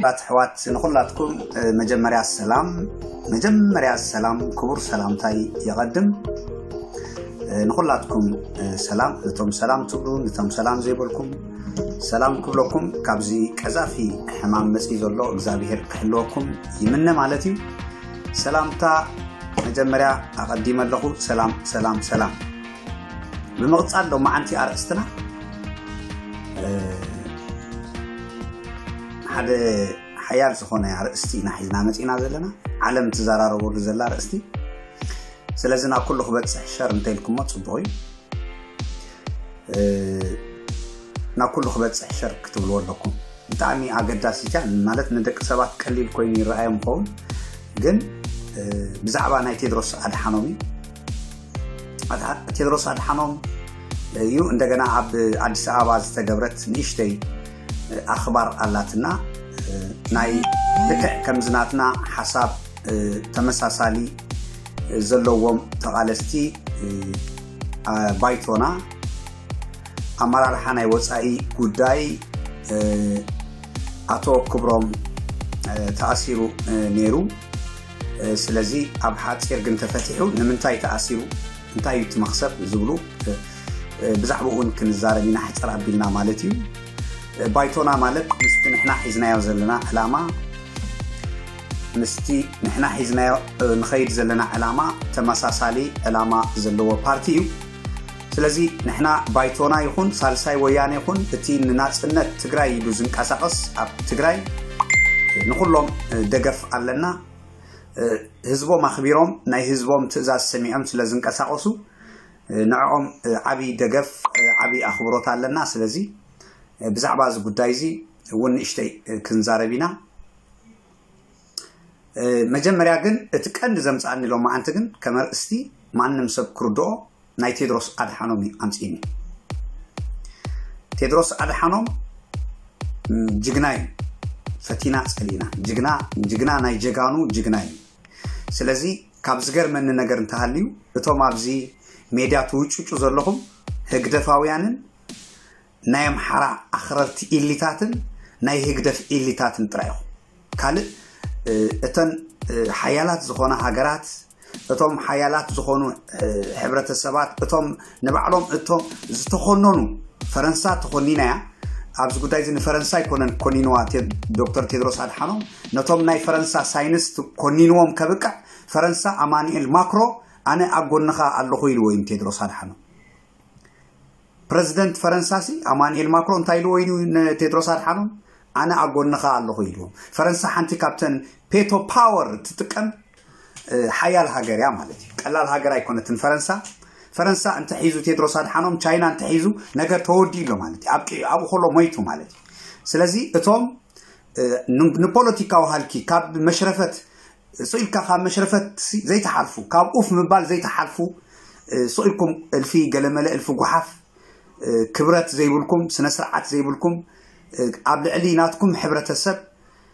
ራት ኣሕዋት ንኹላትኩም፣ እ፣ መጀመርያ ሰላም፣ መጀመርያ ሰላም፣ ክቡር ሰላምታይ የቐድም። እ፣ ንኹላትኩም፣ እ፣ ሰላም፣ ነቶም ሰላም ትብሉ፣ ነቶም ሰላም ዘይበልኩም ሰላም ክብለኩም፣ ካብዚ ቀዛፊ ሕማም መጺ ዘሎ እግዚኣብሔር ክሕልወኩም ይምነ ማለት እዩ። ሰላምታ መጀመርያ ኣቐዲመ ኣለኹ። ሰላም፣ ሰላም፣ ሰላም። ብምቕጻል ሎማዓንቲ ኣርእስትና፣ እ፣ ሓደ ሓያል ዝኾነ ኣርእስቲ ኢና ሒዝና መጺና ዘለና፣ ዓለም ትዘራረበሉ ዘላ ኣርእስቲ። ስለዚ ናብ ኩሉ ክበጽሕ ሸር እንተኢልኩሞ ጽቡቕ እዩ። እ፣ ናብ ኩሉ ክበጽሕ ሸር ክትብልዎ ኣለኩም። ብጣዕሚ ኣገዳሲት እያ፣ ማለት ንደቂ ሰባት ቀሊል ኮይኑ ይረኣዮም ይኸውን፣ ግን፣ እ፣ ብዛዕባ ናይ ቴድሮስ ኣድሓኖም እዩ። ኣድሓ-፣ ቴድሮስ ኣድሓኖም እዩ። እንደገና ኣብ ኣዲስ ኣበባ ዝተገብረት ንእሽተይ፣ እ፣ ኣኽባር ኣላትና፣ እ፣ ናይ ልክዕ ከምዚ ናትና ሓሳብ፣ እ፣ ተመሳሳሊ ዘለዎም ተቓለስቲ፣ እ፣ ኣ-፣ ባይቶና፣ ኣመራርሓ ናይ ወጻኢ ጉዳይ፣ እ፣ ኣቶ ክብሮም፣ እ፣ ተኣሲሩ፣ እ፣ ነይሩ። እ፣ ስለዚ ኣብ ሓጺር ግን ተፈቲሑ። ንምንታይ ተኣሲሩ? እንታይ እዩ እቲ መኽሰብ ዝብሉ፣ እ፣ እ፣ ብዛዕባኡ እውን ክንዛረብ ኢና፣ ሕጽር ኣቢልና ማለት እዩ። እ፣ ባይቶና ማለት ምስቲ ንሕና ሒዝናዮ ዘለና ዕላማ፣ ምስቲ ንሕና ሒዝናዮ፣ እ፣ ንኸይድ ዘለና ዕላማ ተመሳሳሊ ዕላማ ዘለዎ ፓርቲ እዩ። ስለዚ ንሕና ባይቶና ይኹን ሳልሳይ ወያነ ይኹን እቲ ንናጽነት ትግራይ ኢሉ ዝንቀሳቐስ ኣብ ትግራይ ንኹሎም፣ እ፣ ደገፍ ኣለና። እ፣ ህዝቦም ኣኽቢሮም ናይ ህዝቦም ትእዛዝ ሰሚዖም ስለ ዝንቀሳቐሱ፣ እ፣ ንዕኦም፣ እ፣ ዓቢ ደገፍ፣ እ፣ ዓቢ ኣኽብሮት ኣለና። ስለዚ፣ እ፣ ብዛዕባ እዚ ጉዳይ እዚ እውን ንእሽተይ፣ እ፣ ክንዛረብ ኢና። እ፣ መጀመርያ ግን እቲ ቀንዲ ዘምጽኣኒ ሎማዓንቲ ግን ከም ኣርእስቲ ማንም ሰብ ክርድኦ ናይ ቴድሮስ ኣድሓኖም እዩ ኣምጺእኒ። ቴድሮስ ኣድሓኖም፣ ም፣ ጅግና እዩ። ፈቲና ጸሊእና። ጅግና፣ ጅግና ናይ ጀጋኑ ጅግና እዩ። ስለዚ ካብ ዝገርመኒ ነገር እንተሃልዩ፣ እቶም ኣብዚ ሜድያ ትውጭጩ ዘለኹም ህግደፋውያንን ናይ ኣምሓራ ኣኽረርቲ ኢሊታትን ናይ ህግደፍ ኢሊታትን ጥራይ ኢኹም። ካልእ፣ እ፣ እተን፣ እ፣ ሓያላት ዝኾና ሃገራት፣ እቶም ሓያላት ዝኾኑ፣ እ፣ ሕብረተሰባት፣ እቶም ንባዕሎም እቶም ዝተኾነኑ፣ ፈረንሳ ተኾኒና እያ። ኣብዚ ጉዳይ እዚ ንፈረንሳ ኣይኮነን ኮኒንዋ ቴ-፣ ዶክተር ቴድሮስ ኣድሓኖም፣ ነቶም ናይ ፈረንሳ ሳይንስት ኮኒንዎም ከብቅዕ፣ ፈረንሳ ኣማኑኤል ማክሮ ኣነ ኣብ ጎንኻ ኣለኹ ኢልዎ እዩ ቴድሮስ ኣድሓኖም። ፕረዚደንት ፈረንሳሲ ኣማኑኤል ማክሮ እንታይ ኢልዎ እዩ ንቴድሮስ ኣድሓኖም? ኣነ ኣብ ጎንኻ ኣለኹ ኢልዎ። ፈረንሳ ሓንቲ ካብተን ፔቶ ፓወር ትጥቀም፣ እ፣ ሓያል ሃገር እያ ማለት እዩ። ቀላል ሃገር ኣይኮነትን ፈረንሳ። ፈረንሳ እንተሒዙ ቴድሮስ ኣድሓኖም፣ ቻይና እንተሒዙ ነገር ተወዲኡ ኣሎ ማለት እዩ። ኣብ ቂ-፣ ኣብኡ ከሎ ሞይቱ ማለት እዩ። ስለዚ እቶም፣ እ፣ ን-፣ ንፖለቲካዊ ሃልኪ ካብ መሽረፈት ስኢልካ ካብ መሽረፈት ሲ-፣ ዘይተሓልፉ፣ ካብ ኡፍ ምባል ዘይተሓልፉ፣ እ፣ ስኢልኩም እልፊ ገለመለ እልፊ ጓሓፍ፣ እ፣ ክብረት ዘይብልኩም፣ ስነ ስርዓት ዘይብልኩም፣ እ፣ ኣብ ልዕሊ ናትኩም ሕብረተሰብ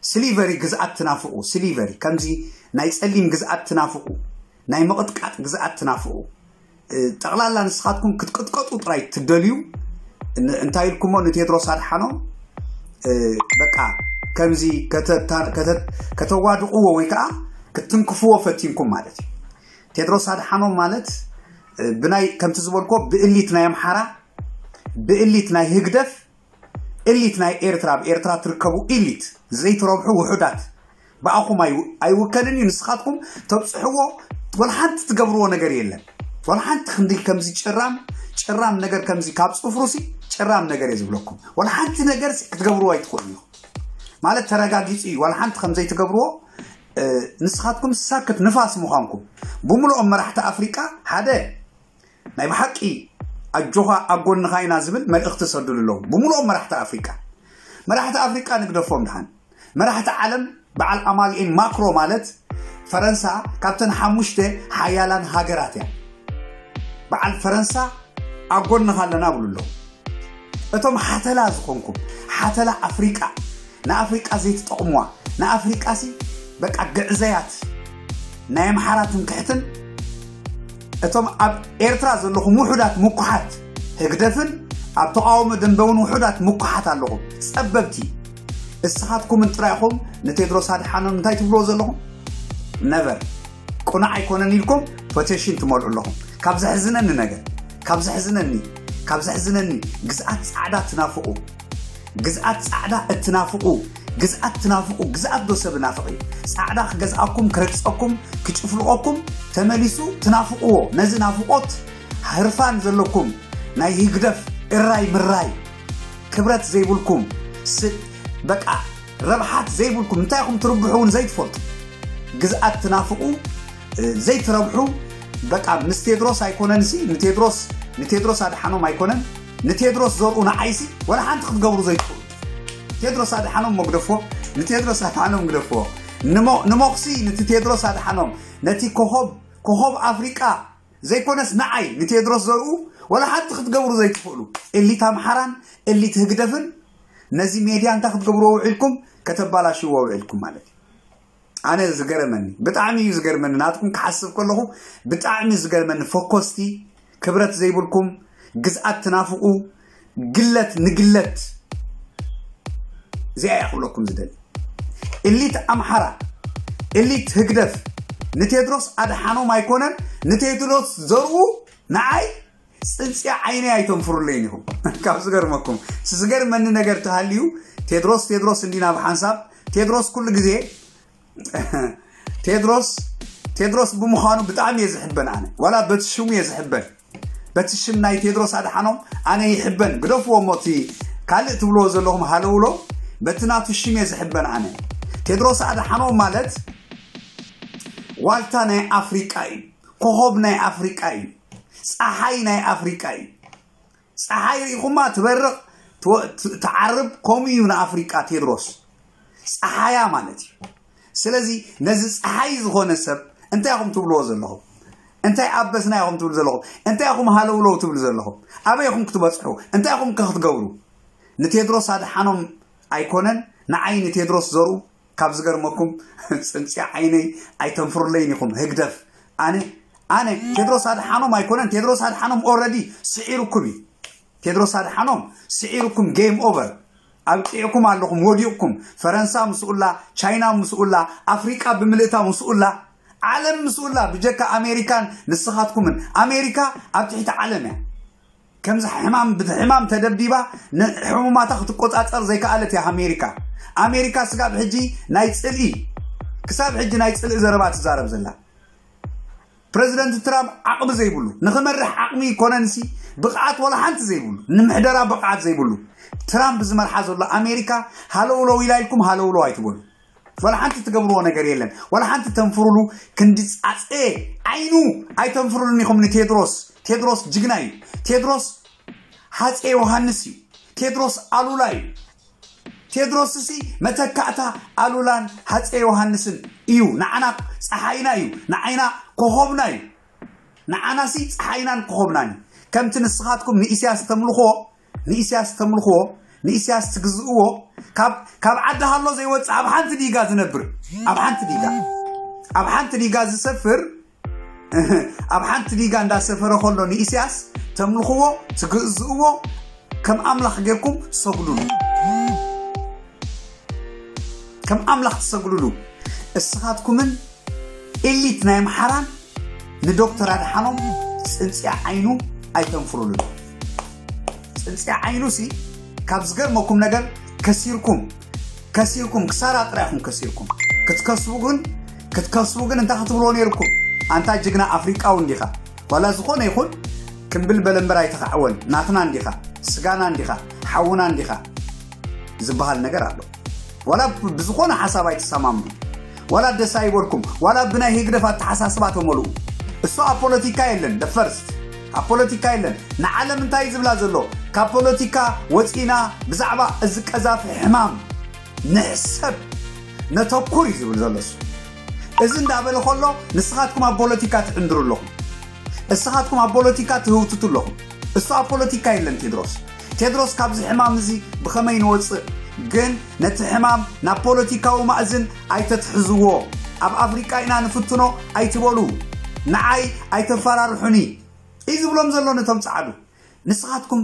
ስሊቨሪ ግዝኣት ትናፍቑ፣ ስሊቨሪ ከምዚ ናይ ጸሊም ግዝኣት ትናፍቑ፣ ናይ ምቕጥቃጥ ግዝኣት ትናፍቑ፣ እ፣ ጠቕላላ ንስኻትኩም ክትቅጥቀጡ ጥራይ ትደልዩ። ን-፣ እንታይ ኢልኩሞ ንቴድሮስ ኣድሓኖም፣ እ፣ በቃ ከምዚ ከተ-፣ ከተ-፣ ከተዋድቕዎ ወይ ከዓ ክትንክፍዎ ፈቲንኩም ማለት እዩ። ቴድሮስ ኣድሓኖም ማለት፣ እ፣ ብናይ፣ ከምቲ ዝበልኮ ብእሊት ናይ ኣምሓራ፣ ብእሊት ናይ ህግደፍ፣ እሊት ናይ ኤርትራ፣ ኣብ ኤርትራ ትርከቡ ኢሊት፣ ዘይትረብሑ ውሑዳት፣ ብኣኹም ኣይው-፣ ኣይውከልን እዩ። ንስኻትኩም ተብጽሕዎ፣ ወላ ሓንቲ ትገብርዎ ነገር የለን። ወላ ሓንቲ ክንዲ ከምዚ ጭራም፣ ጭራም ነገር ከምዚ ካብ ጽፍሩሲ፣ ጭራም ነገር እየ ዝብለኩም። ወላ ሓንቲ ነገርሲ ክትገብርዎ ኣይትኽእሉ ኢኹም። ማለት ተረጋጊጹ እዩ። ወላ ሓንቲ ከም ዘይትገብርዎ፣ እ፣ ንስኻትኩም ሳክት ንፋስ ምዃንኩም። ብምልኦም መራሕቲ ኣፍሪቃ ሓደ ናይ ብሓቂ ኣጆኻ ኣብ ጎንኻ ኢና ዝብል መልእኽቲ ሰዱሉ ኣለዉ። ብምልኦም መራሕቲ ኣፍሪቃ። መራሕቲ ኣፍሪቃ ንግደፎም ድሓን። መራሕቲ ዓለም በዓል ኣማኑኤል ማክሮ ማለት ፈረንሳ ካብተን ሓሙሽተ ሓያላን ሃገራት እያ። በዓል ፈረንሳ ኣብ ጎንኻ ኣለና ብሉ ኣለዉ። እቶም ሓተላ ዝኾንኩም፣ ሓተላ ኣፍሪቃ፣ ንኣፍሪቃ ዘይትጠቕሙዋ፣ ንኣፍሪቃሲ በቃ ግዕዘያት፣ ናይ ኣምሓራ ትምክሕትን፣ እቶም ኣብ ኤርትራ ዘለኹም ውሑዳት ምኩሓት፣ ህግደፍን ኣብ ተቃውሞ ደንበውን ውሑዳት ምኩሓት ኣለኹም። ጸበብቲ፣ እስኻትኩምን ጥራይ ኢኹም ንቴድሮስ ኣድሓኖም እንታይ ትብልዎ ዘለኹም? ነቨር። ቁኑዕ ኣይኮነን ኢልኩም ፖቴሽን ትመልኡ ኣለኹም። ካብ ዘሕዝነኒ ነገር፣ ካብ ዘሕዝነኒ፣ ካብ ዘሕዝነኒ፣ ግዝኣት ጻዕዳ ትናፍቑ፣ ግዝኣት ጻዕዳ እትናፍቑ፣ ግዝኣት ትናፍቑ፣ ግዝኣት ዶ ሰብ ናፍቕ እዩ? ጻዕዳ ክገዝኣኩም፣ ክረግጸኩም፣ ክጭፍልቐኩም ተመሊሱ ትናፍቕዎ። ነዚ ናፍቖት ህርፋን ዘለኩም ናይ ህግደፍ እራይ ምራይ ክብረት ዘይብልኩም፣ ስ- በቃ ረብሓት ዘይብልኩም፣ እንታይ ኢኹም ትርብሑ እውን ዘይትፈልጡ፣ ግዝኣት ትናፍቑ፣ እ፣ ዘይትረብሑ፣ በቃ ምስ ቴድሮስ ኣይኮነንሲ ንቴድሮስ ንቴድሮስ ኣድሓኖም ኣይኮነን፣ ንቴድሮስ ዘርኡ ንዓይሲ ወላ ሓንቲ ክትገብሩ ዘይትኽእሉ። ቴድሮስ ኣድሓኖም መግደፎ፣ ንቴድሮስ ኣድሓኖም ግደፍዎ። ንሞ- ንሞኽሲ፣ ነቲ ቴድሮስ ኣድሓኖም፣ ነቲ ኮኾብ ኮኾብ ኣፍሪቃ ዘይኮነስ ንዓይ ንቴድሮስ ዘርኡ ወላ ሓንቲ ክትገብሩ ዘይትኽእሉ፣ እሊት ኣምሓራን እሊት ህግደፍን ነዚ ሜድያ እንታይ ክትገብርዎ ውዒልኩም? ከተባላሽዎ ውዒልኩም ማለት እዩ። ኣነ ዝገርመኒ፣ ብጣዕሚ እዩ ዝገርመኒ፣ ናትኩም ክሓስብ ከለኹ ብጣዕሚ ዝገርመኒ። ፈኮስቲ፣ ክብረት ዘይብልኩም፣ ግዝኣት ትናፍቑ፣ ግለት ንግለት። እዚኣ እያ ክብለኩም ዝደሊ። እሊት ኣምሓራ፣ እሊት ህግደፍ ንቴድሮስ ኣድሓኖም ኣይኮነን፣ ንቴድሮስ ዘርኡ ንዓይ ጽንጽያ ዓይነይ ኣይተንፍሩለይን ኢኹም። ካብ ዝገርመኩም፣ ዝገርመኒ ነገር ተሃልዩ፣ ቴድሮስ ቴድሮስ እንዲና ብሓንሳብ። ቴድሮስ ኩሉ ግዜ ቴድሮስ ቴድሮስ ብምዃኑ ብጣዕሚ እየ ዝሕበን። ኣነ ዋላ በቲ ሽሙ እየ ዝሕበን። በቲ ሽም ናይ ቴድሮስ ኣድሓኖም ኣነ ይሕበን። ግደፍዎ እሞ እቲ ካልእ ትብልዎ ዘለኹም ሃለውሎ፣ በቲ ናቱ ሽም እየ ዝሕበን። ኣነ ቴድሮስ ኣድሓኖም ማለት ዋልታ ናይ ኣፍሪቃ እዩ። ኮኾብ ናይ ኣፍሪቃ እዩ። ፀሓይ ናይ ኣፍሪቃ እዩ። ፀሓይ ርኢኹማ ትበርቕ፣ ትወ- ት- ትዓርብ። ከምኡ እዩ ንኣፍሪቃ ቴድሮስ፣ ፀሓያ ማለት እዩ። ስለዚ ነዚ ፀሓይ ዝኾነ ሰብ እንታይ ኢኹም ትብልዎ ዘለኹም? እንታይ ኣበስና ኢኹም ትብሉ ዘለኹም? እንታይ ኢኹም ሃለውለው ትብሉ ዘለኹም? ኣበይ ኢኹም ክትበፅሑ? እንታይ ኢኹም ከ ክትገብሩ? ንቴድሮስ ኣድሓኖም ኣይኮነን፣ ንዓይ ንቴድሮስ ዘርኡ ካብ ዝገርመኩም፣ ጽንጽያ ዓይነይ ኣይተንፍሩለይን ኢኹም ህግደፍ። ኣነ ኣነ ቴድሮስ ኣድሓኖም ኣይኮነን። ቴድሮስ ኣድሓኖም ኦረዲ ስዒሩኩም እዩ። ቴድሮስ ኣድሓኖም ስዒሩኩም፣ ጌም ኦቨር። ኣብቂዕኩም ኣለኹም፣ ወዲቕኩም። ፈረንሳ ምስኡላ፣ ቻይና ምስኡላ፣ ኣፍሪቃ ብምልእታ ምስኡላ፣ ዓለም ምስኡላ። ብጀካ ኣሜሪካን ንስኻትኩምን፣ ኣሜሪካ ኣብ ትሕቲ ዓለም እያ። ከምዚ ሕማም ብሕማም ተደብዲባ፣ ንሕሙማታ ክትቆጻጸር ዘይከኣለት እያ ኣሜሪካ። ኣሜሪካ ስጋብ ሕጂ ናይ ጽልኢ፣ ክሳብ ሕጂ ናይ ጽልኢ ዘረባ ትዛረብ ዘላ። ፕረዚደንት ትራምፕ ዓቕሚ ዘይብሉ፣ ንኽመርሕ ዓቕሚ ይኮነንሲ ብቕዓት ወላ ሓንቲ ዘይብሉ፣ ንምሕደራ ብቕዓት ዘይብሉ፣ ትራምፕ ዝመርሓ ዘሎ ኣሜሪካ ሃለውለው ኢላ ኢልኩም ሃለውለው ኣይትበሉ። ወላ ሓንቲ ትገብርዎ ነገር የለን። ወላ ሓንቲ ተንፍሩሉ። ክንዲ ጻጸ ዓይኑ ኣይተንፍሩሉን ኢኹም ንቴድሮስ። ቴድሮስ ጅግና እዩ። ቴድሮስ ሃጼ ዮሃንስ እዩ። ቴድሮስ ኣሉላ እዩ። ቴድሮስ ሲ መተካእታ ኣሉላን ሃጼ ዮሃንስን እዩ። ንዓና ጸሓይና እዩ። ንዓይና ኮኾብና እዩ። ንዓና ሲ ጸሓይናን ኮኾብናን እዩ። ከምቲ ንስኻትኩም ንኢሳያስ ተምልኽዎ፣ ንኢሳያስ ተምልኽዎ፣ ንኢሳያስ ትግዝእዎ፣ ካብ ካብ ዓዲ ሃሎ ዘይወጽእ ኣብ ሓንቲ ዲጋ ዝነብር፣ ኣብ ሓንቲ ዲጋ፣ ኣብ ሓንቲ ዲጋ ዝሰፍር፣ ኣብ ሓንቲ ዲጋ እንዳሰፈረ ከሎ ንኢሳያስ ተምልኽዎ፣ ትግዝእዎ፣ ከም ኣምላኽ ጌርኩም ትሰግዱሉ። ከም ኣምላኽ ትሰግዱሉ። እስኻትኩምን ኤሊት ናይ ኣምሓራን ንዶክተር ኣድሓኖም ጽንጽያ ዓይኑ ኣይተንፍሩሉ። ጽንጽያ ዓይኑ ሲ ካብ ዝገርመኩም ነገር ከሲርኩም፣ ከሲርኩም፣ ክሳራ ጥራይ ኢኹም ከሲርኩም። ክትከስቡ ግን፣ ክትከስቡ ግን እንታይ ክትብልዎ ነይርኩም? ኣንታ ጅግና ኣፍሪቃዊ እንዲኻ። ዋላ ዝኾነ ይኹን ክምብል በለ እምበር ኣይተኻዕወን። ናትና እንዲኻ፣ ስጋና እንዲኻ፣ ሓውና እንዲኻ ዝበሃል ነገር ኣሎ። ዋላ ብ- ብዝኾነ ሓሳብ ኣይትሰማምዑ፣ ዋላ ደስ ኣይበልኩም፣ ዋላ ብናይ ህግደፍ ኣተሓሳስባ ተመልኡ። እሱ ኣብ ፖለቲካ የለን፣ the first ኣብ ፖለቲካ የለን። ንዓለም እንታይ እዩ ዝብላ ዘሎ? ካብ ፖለቲካ ወፂና ብዛዕባ እዚ ቀዛፊ ሕማም ንሕሰብ፣ ነተኩር እዩ ዝብል ዘሎ እሱ። እዚ እንዳበለ ከሎ ንስኻትኩም ኣብ ፖለቲካ ትዕንድሩ ኣለኹም። እስኻትኩም ኣብ ፖለቲካ ትህውትቱ ኣለኹም። እሱ ኣብ ፖለቲካ የለን ቴድሮስ። ቴድሮስ ካብዚ ሕማም እዚ ብኸመይ ንወፅእ? ግን ነቲ ሕማም ናብ ፖለቲካዊ ማእዝን ኣይተትሕዝዎ። ኣብ ኣፍሪቃ ኢና ንፍትኖ ኣይትበሉ። ንዓይ ኣይተፈራርሑኒ እዩ ዝብሎም ዘሎ ነቶም ጸዓዱ። ንስኻትኩም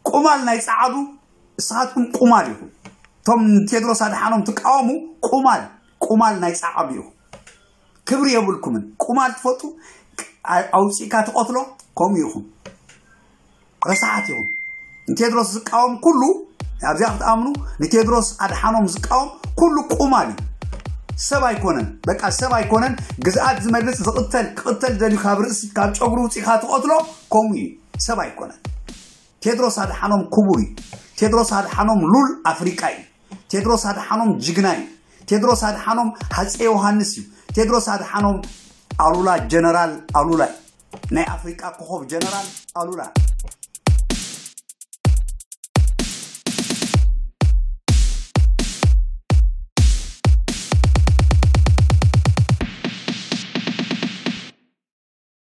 ቁማል ናይ ጸዓዱ፣ ንስኻትኩም ቁማል ኢኹም። እቶም ንቴድሮስ ኣድሓኖም ትቃወሙ ቁማል ቁማል ናይ ጻዓዱ ኢኹም። ክብሪ የብልኩምን። ቁማል ትፈጡ ኣውፂእካ ትቐትሎ ከምኡ ኢኹም። ረሳሓት ኢኹም። ንቴድሮስ ዝቃወም ኩሉ ኣብዚኣ ክትኣምኑ ንቴድሮስ ኣድሓኖም ዝቃወም ኩሉ ቁማል እዩ። ሰብ ኣይኮነን። በቃ ሰብ ኣይኮነን። ግዝኣት ዝመልስ ዝቕተል ክቕተል ደልዩ ካብ ርእሲ ካብ ጨጉሩ ውፂእካ ትቐትሎ ከምኡ እዩ። ሰብ ኣይኮነን። ቴድሮስ ኣድሓኖም ክቡር እዩ። ቴድሮስ ኣድሓኖም ሉል ኣፍሪቃ እዩ። ቴድሮስ ኣድሓኖም ጅግና እዩ። ቴድሮስ ኣድሓኖም ሃፀ ዮሃንስ እዩ። ቴድሮስ ኣድሓኖም ኣሉላ ጀነራል ኣሉላ እዩ። ናይ ኣፍሪቃ ኮኾብ ጀነራል ኣሉላ።